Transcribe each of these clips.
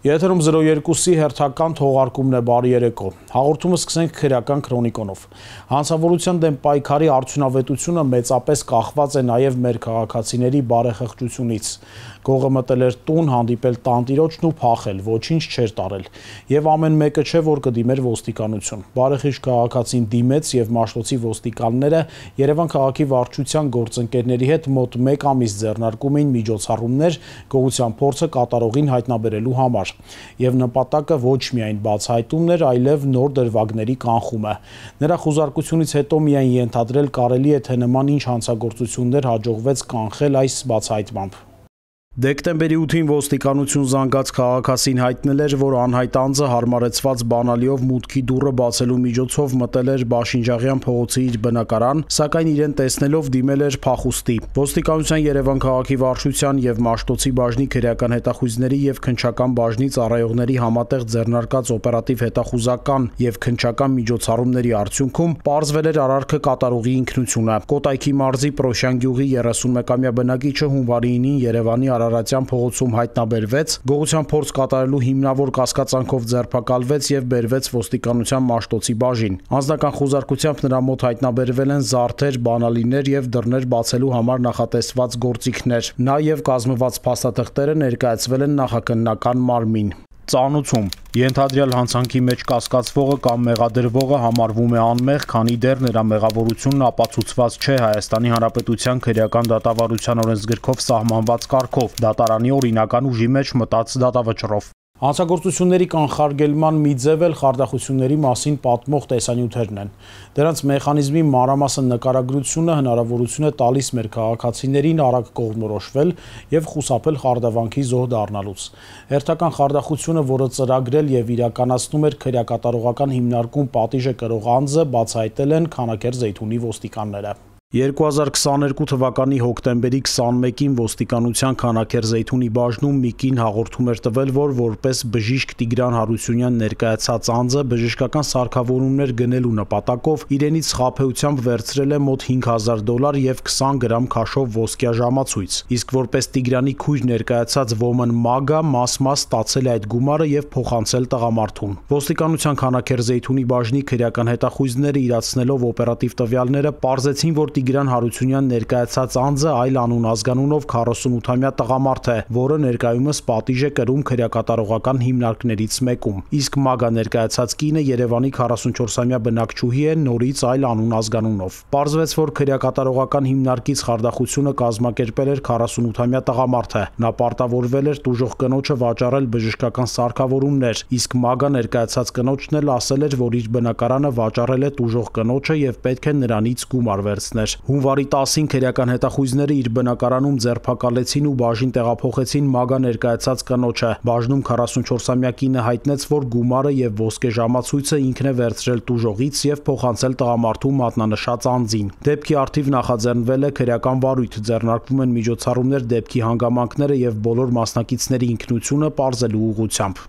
Եթերում 02-ի հերթական թողարկումն է, բարի երեկո։ Հաղորդումը սկսենք քրեական քրոնիկոնով։ Հանցավորության դեմ պայքարի արդյունավետությունը մեծապես կախված է նաև մեր քաղաքացիների բարեխղճությունից։ Գողը մտել էր տուն, հանդիպել տանտիրոջն ու փախել, ոչինչ չէր տարել։ Եվ ամեն մեկը չէ, որ կդիմեր ոստիկանություն։ Բարեխիղճ քաղաքացին դիմեց եւ Մաշտոցի ոստիկանները Երևան քաղաքի վարչության գործընկերների հետ մոտ 1 ամիս ձեռնարկում էին միջոցառումներ գողության փորձը կատարողին հայտնաբերելու համար։ Եվ նպատակը ոչ միայն բացահայտումն էր, այլև նոր դրվագների կանխումը։ Նրա խուզարկությունից հետո միայն ենթադրել կարելի է, թե նման ինչ հանցագործություններ հաջողվեց կանխել այս բացահայտմամբ։ Դեկտեմբերի 8-ին ոստիկանություն զանգած քաղաքացին հայտնել էր, որ անհայտ անձը հարմարեցված բանալիով մուտքի դուռը բացելու միջոցով մտել էր Բաշինջաղյան փողոցի իր բնակարան, սակայն իրեն տեսնելով դիմել էր փախուստի։ Ոստիկանության Երևան քաղաքի վարչության եւ Մաշտոցի բաժնի քրեական հետախույզների եւ քննչական բաժնի ծառայողների համատեղ ձեռնարկած օպերատիվ հետախուզական եւ քննչական միջոցառումների արդյունքում պարզվել էր արարքը կատարողի ինքնությունը։ Կոտայքի մարզի Պրոշյան գյուղի 31-ամյա բնակիչը հունվարի 9-ին Երևանի Արարատյան փողոցում հայտնաբերվեց, գողության փորձ կատարելու հիմնավոր կասկածանքով ձերբակալվեց եւ բերվեց ոստիկանության Մաշտոցի բաժին։ Անձնական խուզարկությամբ նրա մոտ հայտնաբերվել են զարդեր, բանալիներ եւ դռներ բացելու համար նախատեսված գործիքներ։ Նա եւ կազմված փաստաթղթերը ներկայացվել են նախաքննական մարմին։ Ծանուցում ենթադրյալ հանցանքի մեջ կասկածվողը կամ մեղադրվողը համարվում է անմեղ, քանի դեռ նրա մեղավորությունն ապացուցված չէ Հայաստանի Հանրապետության քրեական դատավարության օրենսգրքով սահմանված կարգով, դատարանի օրինական ուժի մեջ մտած դատավճռով։ Հանցագործությունների կանխարգելման մի ձև էլ խարդախությունների մասին պատմող տեսանյութերն են։ Դրանց մեխանիզմի մանրամասն նկարագրությունը հնարավորություն է տալիս մեր քաղաքացիներին արագ կողմնորոշվել եւ խուսափել խարդավանքի զոհ դառնալուց։ Հերթական խարդախությունը, որը ծրագրել եւ իրականացնում էր քրեակատարողական հիմնարկում պատիժը կրող անձը, բացահայտել են Քանաքեռ Զեյթունի ոստիկանները։ 2022 թվականի հոկտեմբերի 21-ին ոստիկանության Քանաքեռ Զեյթունի բաժնում մի կին հաղորդում էր տվել, որ որպես բժիշկ Տիգրան Հարությունյան ներկայացած անձը բժշկական սարքավորումներ գնելու նպատակով իրենից խաբեությամբ վերցրել է մոտ $5,000 եւ 20 գրամ քաշով ոսկյա ժամացույց, իսկ որպես Տիգրանի քույր ներկայացած Woman Maga մաս-մաս ստացել է այդ գումարը եւ փոխանցել տղամարդուն։ Ոստիկանության Քանաքեռ Զեյթունի բաժնի քրեական հետախույզները իրացնելով օպերատիվ տվյալները պարզեցին, որ Տիգրան Հարությունյան ներկայացած անձը այլ անուն ազգանունով 48-ամյա տղամարդ է, որը ներկայումս պատիժ է կրում քրեակատարողական հիմնարկներից մեկում, իսկ Մագա ներկայացած կինը Երևանի 44-ամյա բնակչուհի է, նորից այլ անուն ազգանունով։ Պարզվեց, որ քրեակատարողական հիմնարկից խարդախությունը կազմակերպել էր 48-ամյա տղամարդը։ Նա պարտավորվել էր տուժող կնոջը վաճառել բժշկական սարքավորումներ, իսկ Մագա ներկայացած կնոջն էլ ասել էր, որ իր բնակարանը վաճառել է տուժող կնոջը եւ պետք է նրանից գումար վերցնել։ Հունվարի 10-ին քրեական հետախույզները իր բնակարանում ձերբակալեցին ու բաժին տեղափոխեցին Մագա ներկայացած կնոջը։ Բաժնում 44-ամյա կինը հայտնեց, որ գումարը եւ ոսկե ժամացույցը ինքն է վերցրել տուժողից եւ փոխանցել տղամարդու մատնանշած անձին։ Դեպքի առթիվ նախաձեռնվել է քրեական վարույթ, ձեռնարկվում են միջոցառումներ դեպքի հանգամանքները եւ բոլոր մասնակիցների ինքնությունը պարզելու ուղղությամբ։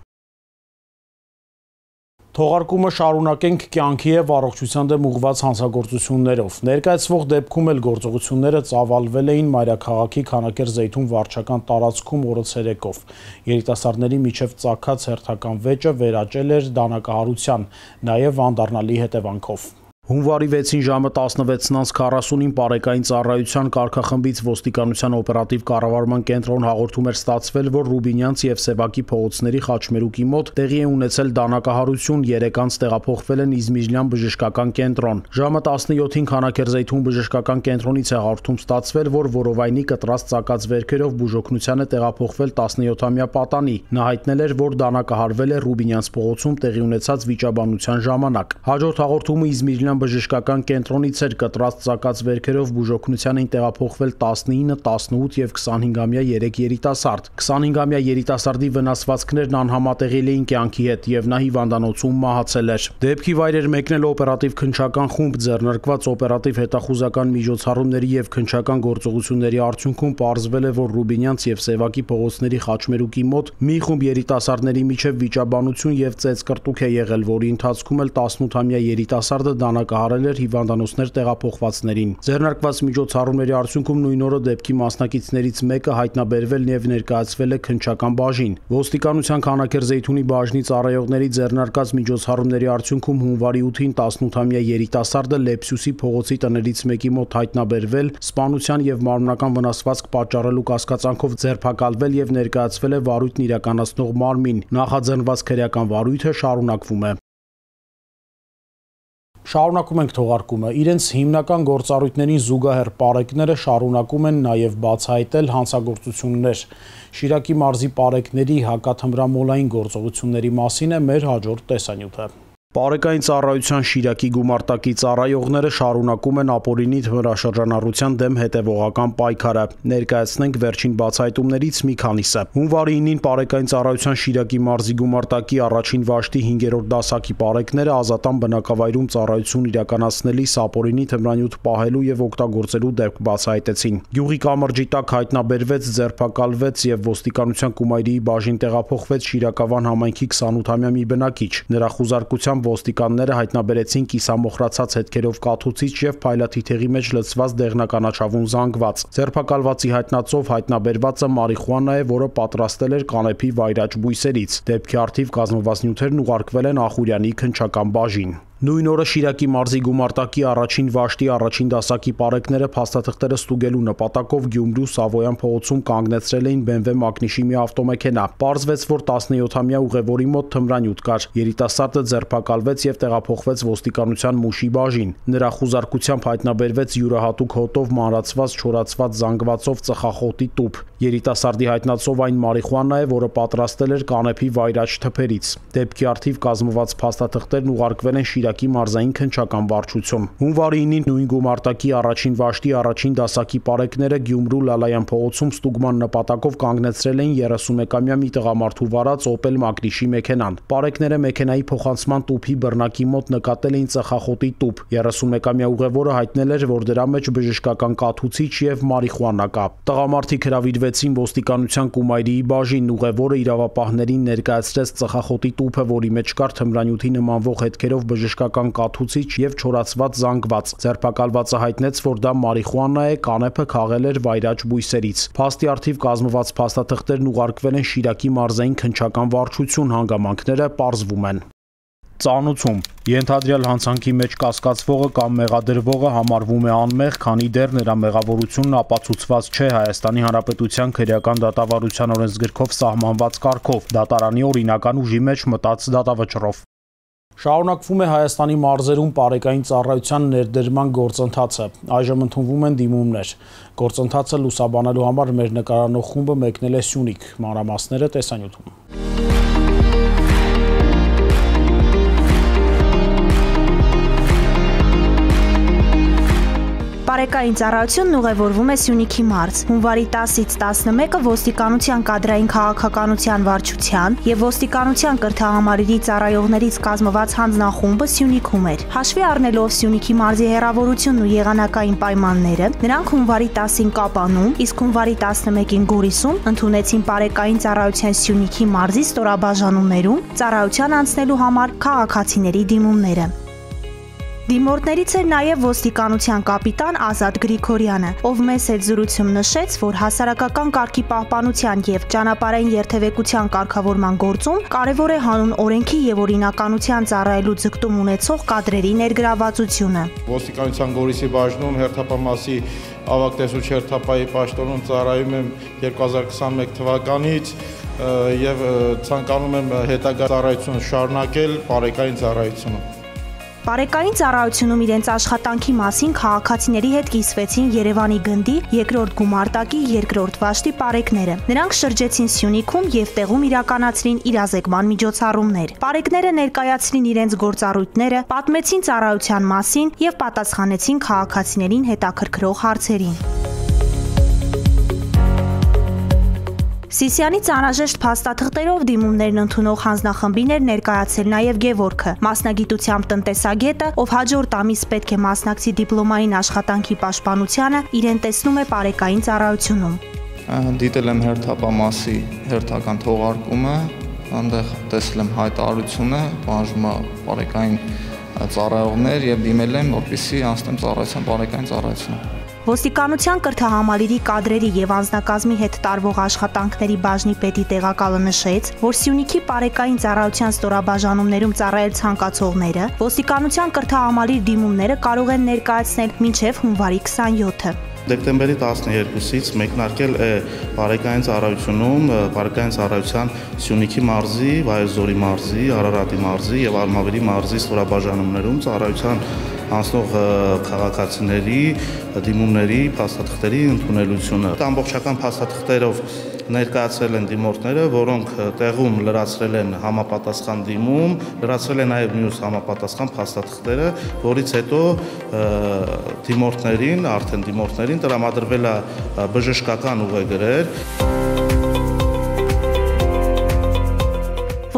Թողարկումը շարունակենք կյանքի եւ առողջության դեմ ուղղված հանցագործություններով։ Ներկայացվող դեպքում էլ գործողությունները ծավալվել էին մայրաքաղաքի Քանաքեռ Զեյթուն վարչական տարածքում օրը ցերեկով։ Երիտասարդների միջև ծագած հերթական վեճը վերաճել էր դանակահարության, նաեւ անդառնալի հետևանքով։ Հունվարի 6-ին ժամը 16:40-ին Պարեկային ծառայության կարգախմբից ոստիկանության օպերատիվ կառավարման կենտրոն հաղորդում էր ստացվել, որ Ռուբինյանց եւ Սևակի փողոցների խաչմերուկի մոտ տեղի է ունեցել դանակահարություն, 3 անձ տեղափոխվել են Իզմիջլյան բժշկական կենտրոն։ Ժամը 17-ին Քանաքեռ Զեյթուն բժշկական կենտրոնից է հաղորդում ստացվել, որ որովայնի կտրած ծակած վերքերով բուժօգնության է տեղափոխվել 17-ամյա պատանի։ Նա հայտնել էր, որ դանակահարվել է Ռուբինյանց փողոցում տեղի ունեցած վիճաբանության ժամանակ։ Հաջորդ հաղորդումը Իզմիջլյան բժշկական կենտրոնից էր, կտրած ծակած վերքերով բուժօգնության էին տեղափոխվել 19, 18 եւ 25-ամյա 3 երիտասարդ։ 25-ամյա երիտասարդի վնասվածքներն անհամատեղելի էին կյանքի հետ եւ նա հիվանդանոցում մահացել էր։ Դեպքի վայր էր մեկնել օպերատիվ քննչական խումբ, ձեռնարկված օպերատիվ հետախուզական միջոցառումների եւ քննչական գործողությունների արդյունքում պարզվել է, որ Ռուբինյանց եւ Սևակի փողոցների խաչմերուկի մոտ մի խումբ երիտասարդների միջև վիճաբանություն եւ ծեծկռտուք է եղել, որի ընթացքում էլ 18-ամյա երիտասարդը վաստակահարել էր հիվանդանոցներ տեղափոխվածներին։ Ձեռնարկված միջոցառումների արդյունքում նույն օրը դեպքի մասնակիցներից մեկը հայտնաբերվել եւ ներկայացվել է քննչական բաժին։ Ոստիկանության Քանաքեռ-Զեյթունի բաժնի ծառայողների ձեռնարկած միջոցառումների արդյունքում հունվարի 8-ին 18-ամյա երիտասարդը Լեպսյուսի փողոցի տներից մեկի մոտ հայտնաբերվել, սպանության եւ մարմնական վնասվածք պատճառելու կասկածանքով ձերբակալվել եւ ներկայացվել է վարույթն իրականացնող մարմին։ Նախաձեռնված քրեական վարույթը շարունակվում է։ Շարունակում ենք թողարկումը։ Իրենց հիմնական գործառույթներին զուգահեռ պարեկները շարունակում են նաև բացահայտել հանցագործություններ։ Շիրակի մարզի պարեկների հակաթմրամոլային գործողությունների մասին է մեր հաջորդ տեսանյութը։ Պարեկային ծառայության Շիրակի գումարտակի ծառայողները շարունակում են ապօրինի թմրաշրջանառության դեմ հետևողական պայքարը։ Ներկայացնենք վերջին բացահայտումներից մի քանիսը։ Հունվարի 9-ին պարեկային ծառայության Շիրակի մարզի գումարտակի առաջին վաշտի 5-րդ դասակի պարեկները ազատան բնակավայրում ծառայություն իրականացնելիս ապօրինի թմրանյութ պահելու եւ օգտագործելու դեպք բացահայտեցին։ Գյուղի կամրջի տակ հայտնաբերվեց, ձերբակալվեց եւ ոստիկանության Կումայրիի բաժին տեղափոխվեց Շիրակավան համայնքի 28-ամյա մի բնակիչ։ Նրա խուզարկությամբ ոստիկանները հայտնաբերեցին կիսամոխրացած հետքերով կաթուցիչ եւ փայլաթիթեղի մեջ լցված դեղնականաչավուն զանգված։ Ձերբակալվածի հայտնածով հայտնաբերվածը մարիխուանա է, որը պատրաստել էր կանեփի վայրաճ բույսերից։ Դեպքի առթիվ կազմված նյութերն ուղարկվել են Ախուրյանի քննչական բաժին։ Նույն օրը Շիրակի մարզի գումարտակի առաջին վաշտի առաջին դասակի պարեկները փաստաթղթերը ստուգելու նպատակով Գյումրու Սավոյան փողոցում կանգնեցրել էին BMW մակնիշի մի ավտոմեքենա։ Պարզվեց, որ 17-ամյա ուղևորի մոտ թմրանյութ կար։ Երիտասարդը ձերբակալվեց եւ տեղափոխվեց ոստիկանության Մուշի բաժին։ Նրա խուզարկությամբ հայտնաբերվեց յուրահատուկ հոտով մանրացված չորացված զանգվածով ծխախոտի տուփ։ Երիտասարդի հայտնածով այն մարիխուանա է, որը պատրաստել էր կանեփի վայրաճ թփերից։ Դեպքի առթիվ կազմված փաստաթղթերն ուղարկվել են Շիրակի մարզային քննչական վարչություն։ Հունվարի 9-ին նույն գումարտակի առաջին վաշտի առաջին դասակի պարեկները Գյումրու Լալայան փողոցում ստուգման նպատակով կանգնեցրել էին 31-ամյա մի տղամարդու վարած Opel մակնիշի մեքենան։ Պարեկները մեքենայի փոխանցման տուփի բռնակի մոտ նկատել էին ծխախոտի տուփ։ 31-ամյա ուղևորը հայտնել էր, որ դրա մեջ բժշկական կաթուցիչ եւ մարիխուանա կա։ Տղամարդիկ հրավիրվեցին ոստիկանության Կումայրիի բաժին։ Ուղևորը իրավապահներին ներկայացրեց ծխախոտի տուփը, որի մեջ կար թմրանյութի նմանվող հետքերով բժշկական կաթուցիչ եւ չորացված զանգված։ Ձերբակալվածը հայտնեց, որ դա մարիխուանա է, կանեփը քաղել էր վայրաճ բույսերից։ Փաստի առթիվ կազմված փաստաթղթերն ուղարկվել են Շիրակի մարզային քննչական վարչություն, հանգամանքները պարզվում են։ Ծանուցում ենթադրյալ հանցանքի մեջ կասկածվողը կամ մեղադրվողը համարվում է անմեղ, քանի դեռ նրա մեղավորությունն ապացուցված չէ Հայաստանի Հանրապետության քրեական դատավարության օրենսգրքով սահմանված կարգով, դատարանի օրինական ուժի մեջ մտած դատավճռով։ Շարունակվում է Հայաստանի մարզերում պարեկային ծառայության ներդրման գործընթացը։ Այժմ ընդունվում են դիմումներ։ Գործընթացը լուսաբանելու համար մեր նկարանող խումբը մեկնել է Սյունիք։ Մանրամասները տեսանյութում։ Պարեկային ծառայությունն ուղևորվում է Սյունիքի մարզ։ Հունվարի 10-ից 11-ը ոստիկանության կադրային քաղաքականության վարչության եւ ոստիկանության կրթահամարերի ծառայողներից կազմված հանձնախումբը Սյունիքում էր։ Հաշվի առնելով Սյունիքի մարզի հեռավորությունն ու եղանակային պայմանները, նրանք հունվարի 10-ին Կապանում, իսկ հունվարի 11-ին Գորիսում ընդունեցին պարեկային ծառայության Սյունիքի մարզի ստորաբաժանումներում ծառայության անցնելու համար քաղաքացիների դիմումները։ Դիմորդներից էր նաև ոստիկանության կապիտան Ազատ Գրիգորյանը, ով մեծ հետ զրույցում նշեց, որ հասարակական կարգի պահպանության եւ ճանապարհային երթևեկության կարգավորման գործում կարևոր է հանուն օրենքի եւ օրինականության ծառայելու ձգտում ունեցող կադրերի ներգրավվածությունը։ Ոստիկանության Գորիսի բաժնում հերթապամասի ավագ տեսուչ հերթապայի պաշտոնում ծառայում եմ 2021 թվականից եւ ցանկանում եմ հետագա ծառայությունը շարունակել պարեկային ծառայությունում։ Պարեկային ծառայությունում իրենց աշխատանքի մասին քաղաքացիների հետ կիսվեցին Երևանի գնդի երկրորդ գումարտակի երկրորդ վաշտի պարեկները։ Նրանք շրջեցին Սյունիքում եւ տեղում իրականացրին իրազեկման միջոցառումներ։ Պարեկները ներկայացրին իրենց գործառույթները, պատմեցին ծառայության մասին եւ պատասխանեցին քաղաքացիներին հետաքրքրող հարցերին։ Սիսիանից անհրաժեշտ փաստաթղթերով դիմումներն ընդունող հանձնախմբին էր ներկայացել նաև Գևորգը, մասնագիտությամբ տնտեսագետը, ով հաջորդ ամիս պետք է մասնակցի դիպլոմային աշխատանքի պաշտպանությանը, իրեն տեսնում է պարեկային ծառայությունում։ Դիտել եմ հերթապամասի հերթական թողարկումը, այնտեղ տեսել եմ հայտարարությունը, բաժնումը պարեկային ծառայողներ եւ դիմել եմ, որպեսզի անցնեմ ծառայության բարեկային ծառայությունը։ Ոստիկանության կրթահամալիրի կադրերի եւ անձնակազմի հետ տարվող աշխատանքների բաժնի պետի տեղակալը նշեց, որ Սյունիքի բարեկային ծառայության ստորաբաժանումներում ծառայել ցանկացողները ոստիկանության կրթահամալիր դիմումները կարող են ներկայացնել մինչեւ հունվարի 27-ը։ Դեկտեմբերի 12-ից մեկնարկել է բարեկային ծառայությունում, բարեկային ծառայության Սյունիքի մարզի, Վայոց-Ձորի մարզի, Արարատի մարզի եւ Արմավիրի մարզի ստորաբաժանումներում ծառայության անցնող քաղաքացիների դիմումների փաստաթղթերի ընդունելությունը։ Ամբողջական փաստաթղթերով ներկայացրել են դիմորդները, որոնք տեղում լրացրել են համապատասխան դիմում, լրացրել են նաև մյուս համապատասխան փաստաթղթերը, որից հետո դիմորդներին տրամադրվել է բժշկական ուղեգրեր։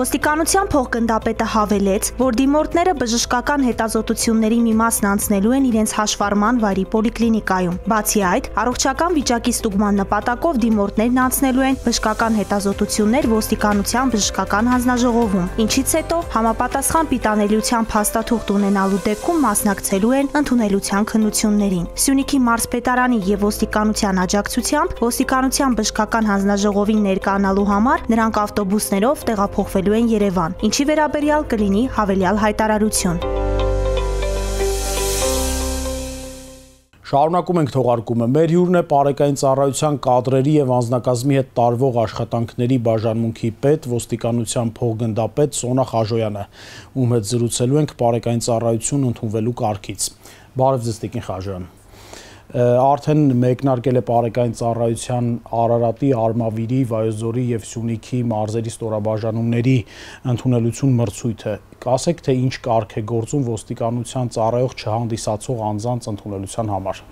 Ոստիկանության փոխգնդապետը հավելեց, որ դիմորդները բժշկական հետազոտությունների մի մասն անցնելու են իրենց հաշվառման վայրի պոլիկլինիկայում։ Բացի այդ, առողջական վիճակի ստուգման նպատակով դիմորդներն անցնելու են բժշկական հետազոտություններ ոստիկանության բժշկական հանձնաժողովում, ինչից հետո համապատասխան պիտանելիության փաստաթուղթ ունենալու դեպքում մասնակցելու են ընդունելության քննություններին։ Սյունիքի մարզպետարանի եւ ոստիկանության աջակցությամբ ոստիկանության բժշկական հանձնաժողովին ներկայանալու համար նրանք ավտոբուսներով տեղափոխվելու են Երևան, ինչի վերաբերյալ կլինի հավելյալ հայտարարություն։ Շարունակում ենք թողարկումը։ Մեր հյուրն է բարեկային ծառայության կադրերի եւ անձնակազմի հետ տարվող աշխատանքների բաժանմունքի պետ, ոստիկանության փոխգնդապետ Սոնա Խաժոյանը, ում հետ զրուցելու ենք բարեկային ծառայություն ընդունվելու կարգից։ Բարև ձեզ, Տիկին Խաժոյան։ Արդեն մեկնարկել է բարեկային ծառայության Արարատի, Արմավիրի, Վայոց-Ձորի եւ Սյունիքի մարզերի ստորաբաժանումների ընդունելություն մրցույթը։ Կասեք, թե ինչ կարգ է գործում ոստիկանության ծառայող չհանդիսացող անձանց ընդունելության համար։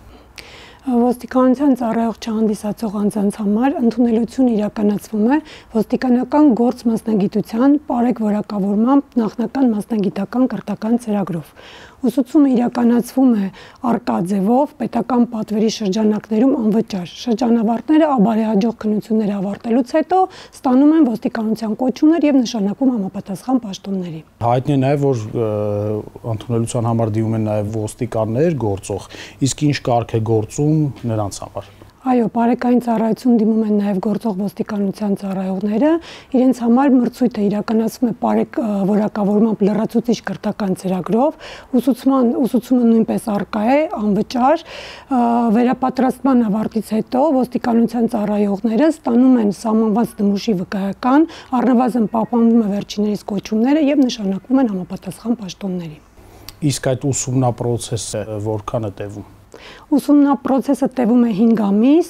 Ոստիկանության ծառայող չհանդիսացող անձանց համար ընդունելություն իրականացվում է ոստիկանական գործ մասնագիտության պարեգ որակավորմամբ նախնական մասնագիտական կրթական ծրագրով։ Ուսուցումը իրականացվում է արկա ձևով պետական պատվերի շրջանակներում անվճար։ Շրջանավարտները բարեհաջող քննություններ ավարտելուց հետո ստանում են ոստիկանության կոչումներ եւ նշանակում համապատասխան պաշտոնների։ Հայտնի է նաեւ, որ ընդունելության համար դիմում են նաեւ ոստիկաններ գործող, իսկ ինչ կարգ է գործում նրանց համար։ Այո, բարեկային ծառայություն դիմում են նաև գործող ոստիկանության ծառայողները, իրենց համար մրցույթը իրականացվում է պարեգ որակավորմամբ լրացուցիչ կրթական ծրագրով, ուսուցումը նույնպես արկա է, անվճար, վերապատրաստման ավարտից հետո ոստիկանության ծառայողները ստանում են սահմանված նմուշի վկայական, առնվազն պահպանվում է վերջիններիս կոչումները եւ նշանակվում են համապատասխան պաշտոնների։ Իսկ այդ ուսումնապրոցեսը որքան է տևում։ Ուսումնապրոցեսը տևում է 5 ամիս,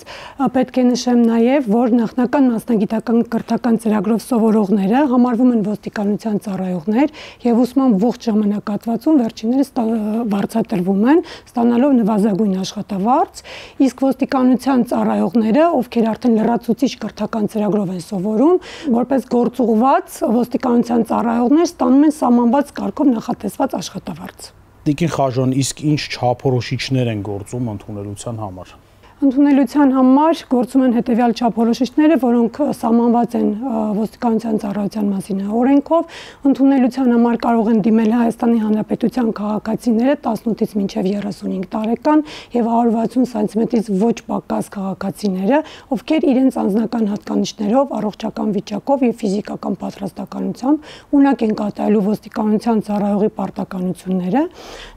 պետք է նշեմ նաև, որ նախնական մասնագիտական կրթական ծրագրով սովորողները համարվում են ոստիկանության ծառայողներ եւ ուսման ողջ ժամանակահատվածում վերջիններս վարձատրվում են, ստանալով նվազագույն աշխատավարձ, իսկ ոստիկանության ծառայողները, ովքեր արդեն լրացուցիչ կրթական ծրագրով են սովորում, որպես գործուղված ոստիկանության ծառայողներ ստանում են սահմանված կարգով նախատեսված աշխատավարձ։ Տիկին Խաժոյան, իսկ ինչ չափորոշիչներ են գործում ընդունելության համար։ Ընդունելության համար գործում են հետևյալ չափորոշիչները, որոնք սահմանված են ոստիկանության ծառայության մասին օրենքով։ Ընդունելության համար կարող են դիմել Հայաստանի Հանրապետության քաղաքացիները 18-ից մինչև 35 տարեկան եւ 160 սանտիմետրից ոչ պակաս քաղաքացիները, ովքեր իրենց անձնական հատկանիշներով, առողջական վիճակով եւ ֆիզիկական պատրաստականությամբ ունակ են կատարելու ոստիկանության ծառայողի պարտականությունները։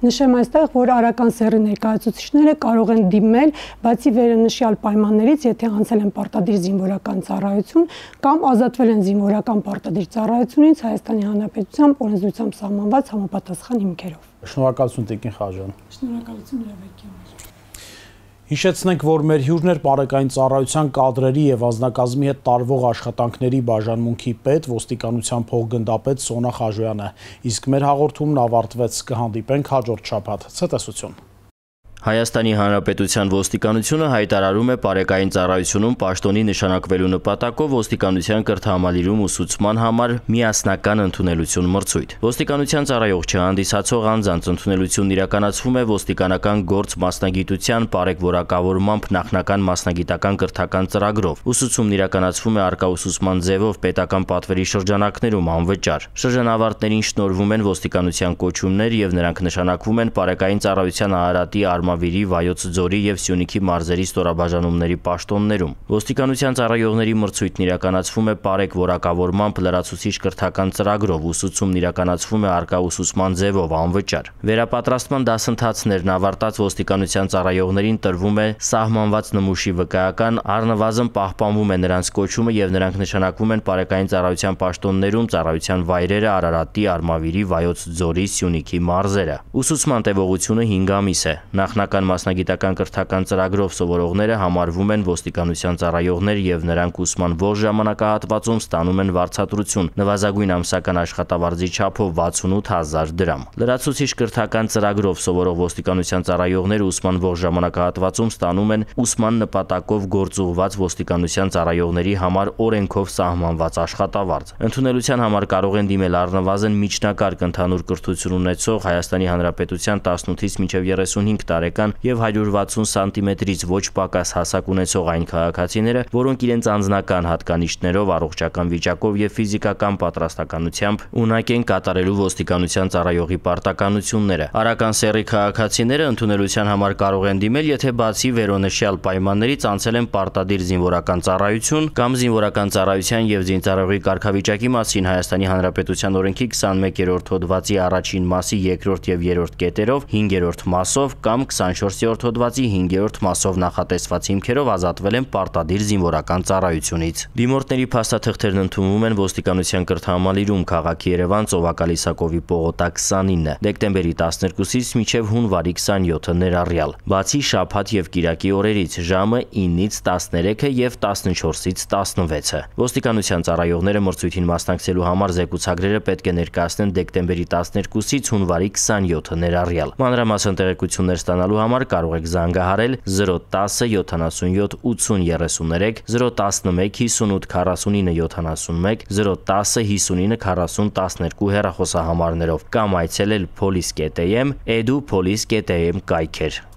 Նշեմ այստեղ, որ արական սեռի ներկայացուցիչները կարող են դիմել, բացի վերնշյալ պայմաններից, եթե անցել են պարտադիր զինվորական ծառայություն կամ ազատվել են զինվորական պարտադիր ծառայությունից Հայաստանի Հանրապետությամբ օրենսդրությամբ սահմանված համապատասխան հիմքերով։ Շնորհակալություն, Տիկին Խաժոյան։ Շնորհակալություն հրավերին։ Հիշեցնենք, որ մեր հյուրն էր բարեկային ծառայության կադրերի եւ անձնակազմի հետ տարվող աշխատանքների բաժանմունքի պետ, ոստիկանության փոխգնդապետ Սոնա Խաժոյանը։ Իսկ մեր հաղորդումն ավարտվեց, կհանդիպենք հաջորդ շաբաթ։ Ցտեսություն։ Հայաստանի Հանրապետության ոստիկանությունը հայտարարում է պարեկային ծառայությունում պաշտոնի նշանակվելու նպատակով ոստիկանության կրթահամալիրում ուսուցման համար միասնական ընդունելություն մրցույթ։ Ոստիկանության ծառայող չհանդիսացող անձանց ընդունելությունն իրականացվում է ոստիկանական գործ մասնագիտության պարեկորակավորմամբ նախնական մասնագիտական կրթական ծրագրով։ Ուսուցումն իրականացվում է առկա ուսուցման ձևով պետական պատվերի շրջանակներում անվճար։ Շրջանավարտներին շնորհվում են ոստիկանության կոչումներ եւ նրանք նշանակվում են պարեկային ծառայության Արարատի, Արմավիրի, Վայոց ձորի եւ Սյունիքի մարզերի ստորաբաժանումների պաշտոններում։ Ոստիկանության ծառայողների մրցույթն իրականացվում է պարեկ որակավորմամբ լրացուցիչ կրթական ծրագրով, ուսուցումն իրականացվում է առկա ուսուցման ձևով անվճար։ Վերապատրաստման դասընթացներն ավարտած ոստիկանության ծառայողներին տրվում է սահմանված նմուշի վկայական, առնվազն պահպանվում է նրանց կոչումը եւ նրանք նշանակվում են պարեկային ծառայության պաշտոններում ծառայության վայրերը Արարատի, Արմավիրի, Վայոց ձորի, Սյունիքի մարզերը։ Ուսուցման տևողությունը 5 ամիս է։ Նախնական մասնագիտական կրթական ծրագրով սովորողները համարվում են ոստիկանության ծառայողներ եւ նրանք ուսման ողջ ժամանակահատվածում ստանում են վարձատրություն նվազագույն ամսական աշխատավարձի չափով 68000 դրամ։ Լրացուցիչ կրթական ծրագրով սովորող ոստիկանության ծառայողները ուսման ողջ ժամանակահատվածում ստանում են ուսման նպատակով գործուղված ոստիկանության ծառայողների համար օրենքով սահմանված աշխատավարձ։ Ընդունելության համար կարող են դիմել առնվազն միջնակարգ ընդհանուր կրթություն ունեցող Հայաստանի Հանրապետության 18-ից մինչև 35 տարեկան եւ 160 սանտիմետրից ոչ պակաս հասակ ունեցող այն քաղաքացիները, որոնք իրենց անձնական հատկանիշներով, առողջական վիճակով եւ ֆիզիկական պատրաստականությամբ ունակ են կատարելու ոստիկանության ծառայողի պարտականությունները։ Արական սեռի քաղաքացիները ընդունելության համար կարող են դիմել, եթե բացի վերոնշյալ պայմաններից անցել են պարտադիր զինվորական ծառայություն կամ զինվորական ծառայության եւ զինծառայողի կարգավիճակի մասին Հայաստանի Հանրապետության օրենքի 21-րդ հոդվածի առաջին մասի 2-րդ եւ 3-րդ կետերով 5-րդ մասով կամ 24-րդ հոդվածի 5-րդ մասով նախատեսված հիմքերով ազատվել են պարտադիր զինվորական ծառայությունից։ Դիմորդների փաստաթղթերն ընդունվում են ոստիկանության կրթահամալիրում քաղաքի Երևան Ծովակալի Սակովի պողոտա 29 դեկտեմբերի 12-ից մինչև հունվարի 27-ը ներառյալ, բացի շաբաթ եւ կիրակի օրերից ժամը 9-ից 13-ը եւ 14-ից 16-ը։ Ոստիկանության ծառայողները մրցույթին մասնակցելու համար զեկուցագրերը պետք է ներկայացնեն դեկտեմբերի 12-ից հունվարի 27-ը ներառյալ։ Մանրամասն տեղեկություններ ստանալու համար կարող եք զանգահարել 010 77 80 33, 011 58 49 71, 010 59 40 12 հեռախոսահամարներով կամ այցելել police.am, edu-police.am կայքեր։